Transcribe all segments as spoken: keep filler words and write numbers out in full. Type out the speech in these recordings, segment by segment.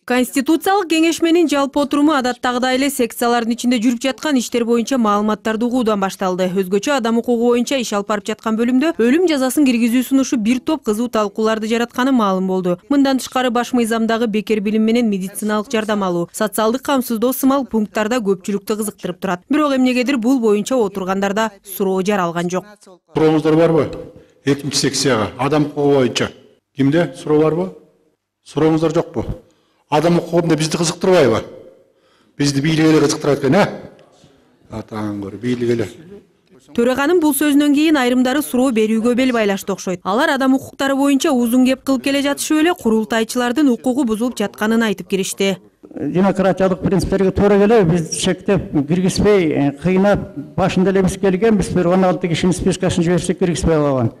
Конституциялык кеңешменин жалпы отуруму адаттагыдай эле секциялардын ичинде жүрүп жаткан иштер боюнча маалыматтарды угуудан башталды. Өзгөчө адам укугу боюнча иш алып барып жаткан бөлүмдө өлүм жазасын киргизүү сунушу бир топ кызуу талкууларды жаратканы маалым болду. Мындан тышкары баш мыйзамдагы бекер билим менен медициналык жардам алуу, социалдык камсыздоо сымал пункттарда көпчүлүктү кызыктырып турат. Бирок эмнегедир бул боюнча отургандарда суроо жаралган жок. Сурооңуздар барбы? экинчи секцияга адам укугу боюнча кимде суроо барбы? Сурооңуздар жокпу? Адам укугунда бизди кызыктырбайбы? Бизди бийлик эле кызыктырат экен, а? Атаң көр, бийлик эле. Төраганын бул сөзүнөн кийин айрымдары суроо берүүгө бел байлашты окшойт. Алар адам укуктары боюнча узун кеп кылып келе жатышып эле курултайчылардын укугу бузулуп жатканын айтып киришти. Демократиялык принциптерге туура келе биз чектеп киргизбей, кыйнап, башында эле биз келгенбиз, бир он алты кишинин спискасын жиберсек киргизбей калган.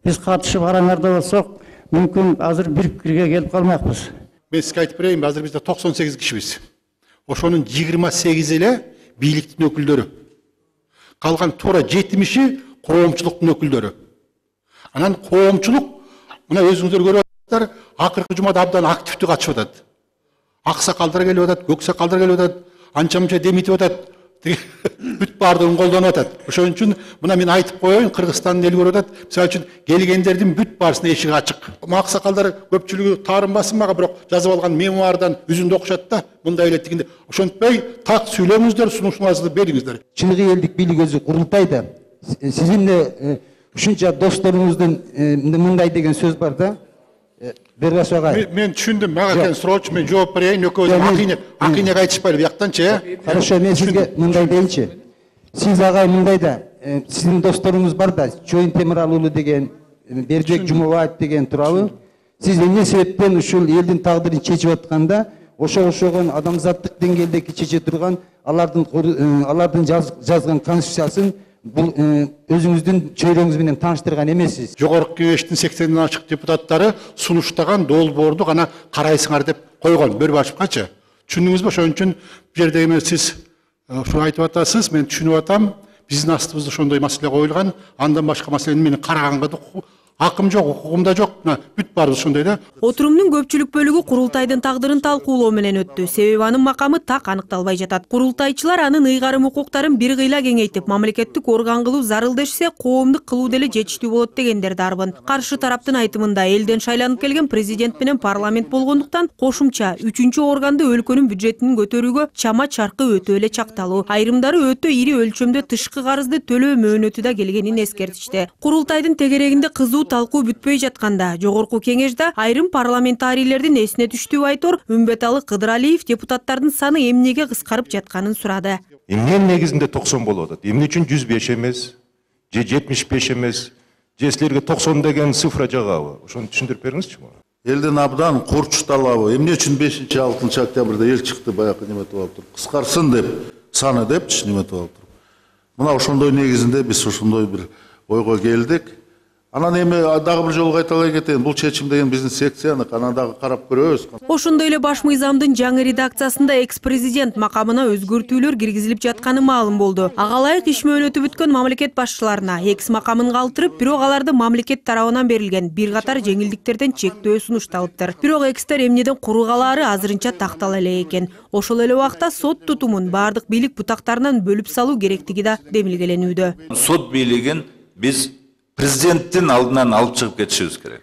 Биз катышып араңарда болсок, мүмкүн азыр бир пикирге келип калмакпыз. Мен сизге айтып берейин, азыр бизде токсон сегиз кишибиз. Ошонун жыйырма сегизи эле бийликтин өкүлдөрү. Калган туура жетимиши коомчулуктун өкүлдөрү. Анан коомчулук, мына өзүңүздөр көрүп атасыздар, акыркы жумада абдан активдүү катышып атат. Аксакалдар келип атат, көк сакалдар келип атат, анча-мынча демитип атат. Бүт баардыгын колдонуп атат. Ошон үчүн мына мен айтып коеюн, Кыргызстандын эли көрүп атат. Мисалы үчүн келгендердин бүт баарысына эшиги ачык. Аксакалдар көпчүлүгү таарынбасын мага, бирок жазып алган мемуардан үзүндү окушат да, мындай эле тигинде. Ошентпей так сүйлөңүздөр, сунушуңарыңызды бериңиздер. Чыныгы элдик бийлик өзү курултайда сиздин ушунча досторуңуздун мындай деген сөз бар да. Бергас агай. Мен түшүндүм, мага кен суроочу, мен жооп берейин, экөөбүз акыйне, акыйнеге айтышпайлы бияктанчы, э? Хорошо, мен сизге мындай дейинчи. Сиз агай мындай да, сиздин досторуңуз бар да, Чоюн Темиралы уулу деген, Бердибек Жумабаев деген тууралуу. Сиз эмне себептен ушул элдин тагдырын чечип атканда, ошо ошогон адамзаттык деңгээлдеги чече турган алардын алардын жазган конституциясын бул өзүңүздүн чөйрөңүз менен тааныштырган эмессиз. Жогорку кеңештин сексенден ашык депутаттары сунуштаган долбоорду гана карайсыңар деп койгон, Бөрбашевкачы. Түшүндүңүзбү? Ошон үчүн бу жерде эме сиз ушуну айтып атасыз, мен түшүнүп атам. Биздин астыбызда ошондой маселе коюлган, андан башка маселени менин караганга акым жок, укугум да жок. Бүт баарыбыз ошондой да. Отурумдун көпчүлүк бөлүгү курултайдын тагдырын талкуулоо менен өттү. Себеби анын макамы так аныкталбай жатат. Курултайчылар анын ыйгарым укуктарын бир кыйла кеңейтип, мамлекеттик орган кылуу зарыл дешсе, коомдук кылуу деле жетиштүү болот дегендер дарбын. Каршы тараптын айтымында элден шайланып келген президент менен парламент болгондуктан кошумча үчүнчү органды өлкөнүн бюджетин көтөрүүгө чама чаркы өтө эле чакталуу. Айрымдары өтө ири өлчөмдө тышкы карызды төлөө мөөнөтү да келгенин эскертишти. Курултайдын тегерегинде кызуу талкуу бүтпөй жатканда, жогорку кеңеште айрым парламентарийлердин эсине түштүү айтор Үмбеталы Кыдыралиев депутаттардын саны эмнеге кыскарып жатканын сурады. Эмне негизинде токсон болуп атат? Эмне үчүн жүз беш эмес, же жетимиш беш эмес, же силерге токсон деген цифра жагабы? Ошону түшүндүрүп бериңизчи мага. Элдин абдан курчталабы. Эмне үчүн бешинчи алтынчы октябрда эл чыкты, баягы неметип алып туруп, кыскарсын деп, саны депчи неметип алып туруп. Мына ошондой негизинде биз ошондой бир ойго келдик. Анан эми дагы бир жолу кайталай кетейин, бул чечим деген биздин секцияныкы, анан дагы карап көрөбүз. Ошондой эле баш мыйзамдын жаңы редакциясында экс-президент макамына өзгөртүүлөр киргизилип жатканы маалым болду. Ага ылайык иш мөөнөтү бүткөн мамлекет башчыларына экс макамын калтырып, бирок аларды мамлекет тарабынан берилген бир катар жеңилдиктерден чектөө сунушталыптыр. Бирок экстер эмнеден куругалаары азырынча тактала эле экен. Ошол эле убакта сот тутумун бардык бийлик бутактарынан бөлүп салуу керектиги да демилгеленүүдө. Сот бийлигин биз президенттин алдынан алып чыгып кетишибиз керек.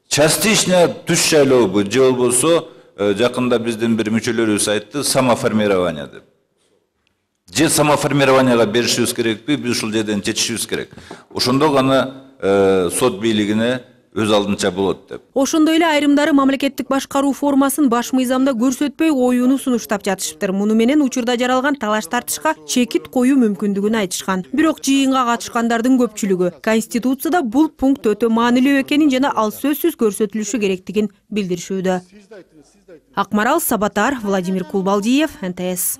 Частично түш шайлоо же болбосо жакында биздин бир мүчөлөрүбүз айтты, самоформирование деп. Же самоформированияга беришибиз керекпи, биз ушул жерден чечишибиз керек. Ошондо гана сот бийлигине өз алдынча болот деп. Ошондой эле айрымдары мамлекеттик башкаруу формасын баш мыйзамда көрсөтпөй коюуну сунуштап жатышыптыр. Муну менен учурда жаралган талаш тартышка чекит коюу мүмкүндүгүн айтышкан. Бирок жыйынга катышкандардын көпчүлүгү Конституцияда бул пункт өтө маанилүү экенин жана ал сөзсүз көрсөтүлүшү керектигин билдиришүүдө. Акмарал Сабатар, Владимир Кулбалдиев, эн тэ эс.